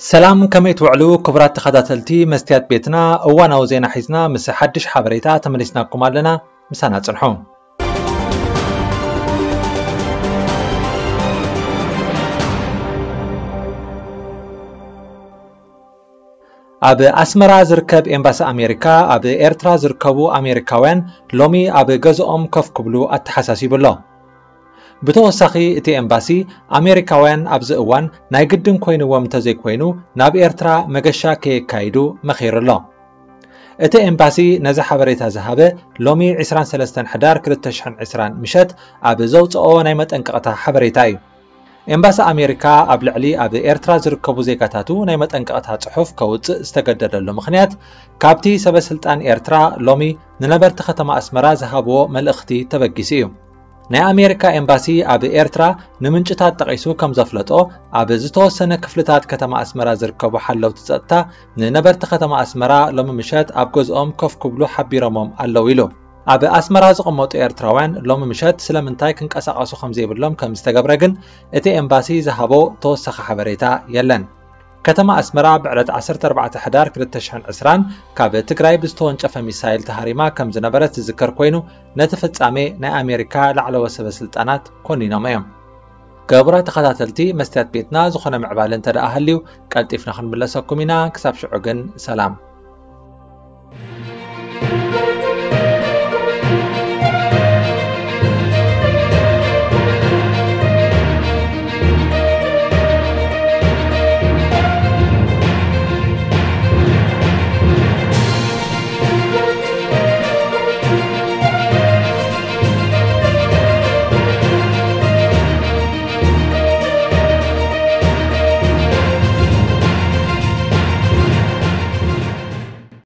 ሰላም፣ ከመይ ትውዕሉ ክቡራት ተኸታተልቲ መስትያት ቤትና? እዋናዊ ዜና ሒዝና ምስ ሓድሽ ሓበሬታ ተመሊስናኩም ኣለና። ምሳና ጽንሑ። ኣብ ኣስመራ ዝርከብ ኤምባሲ ኣሜሪካ፣ ኣብ ኤርትራ ዝርከቡ ኣሜሪካውያን ሎሚ ኣብ ገዝኦም ኮፍ ክብሉ ኣተሓሳሲቡ ኣሎ። ብተወሳኺ፣ እቲ ኤምባሲ፣ ኣሜሪካውያን ኣብዚ እዋን ናይ ግድን ኮይንዎም እንተዘይኮይኑ፣ ናብ ኤርትራ መገሻ ከየካይዱ መኺሩ ኣሎ። እቲ ኤምባሲ ነዚ ሓበሬታ ዝሃበ ሎሚ ዕስራን ሰለስተን ሕዳር ክልተ ሽሕን ዕስራን ምሸት ኣብ ዘውጽኦ ናይ መጠንቀቕታ ሓበሬታ እዩ። ኤምባሲ ኣሜሪካ ኣብ ልዕሊ ኣብ ኤርትራ ዝርከቡ ዜጋታቱ ናይ መጠንቀቕታ ጽሑፍ ከውጽእ ዝተገደደሉ ምኽንያት፣ ካብቲ ሰበ ስልጣን ኤርትራ ሎሚ ንነበርቲ ከተማ ኣስመራ ዝሃብዎ መልእኽቲ ተበጊሱ እዩ። ናይ ኣሜሪካ ኤምባሲ ኣብ ኤርትራ ንምንጭታት ጠቒሱ ከም ዘፍለጦ፣ ኣብ ዝተወሰነ ክፍልታት ከተማ ኣስመራ ዝርከቡ ሓለውቲ ጸጥታ ንነበርቲ ከተማ ኣስመራ ሎሚ ምሸት ኣብ ገዝኦም ኮፍ ክብሉ ሓቢሮሞም ኣለዉ ኢሉ። ኣብ ኣስመራ ዝቕመጡ ኤርትራውያን ሎሚ ምሸት ስለምንታይ ክንቀሳቐሱ ከም ዘይብሎም ከም ዝተገብረ ግን እቲ ኤምባሲ ዝሃቦ ተወሳኺ ሓበሬታ የለን። ከተማ ኣስመራ ብዕለት ዓሰርተ ኣርባዕተ ሕዳር ክልተ ሽሕን ዕስራን ካብ ትግራይ ብዝተወንጨፈ ሚሳይል ተሃሪማ ከም ዝነበረት ዝዝከር ኮይኑ፣ ነቲ ፍጻሜ ናይ ኣሜሪካ ላዕለዎት ሰበ ስልጣናት ኮኒኖም እዮም። ክቡራት ተኸታተልቲ መስትያት ቤትና፣ ዝኾነ ምዕባለ እንተ ደኣ ሃልዩ ቀልጢፍና ክንምለሰኩም ኢና። ክሳብ ሽዑ ግን ሰላም።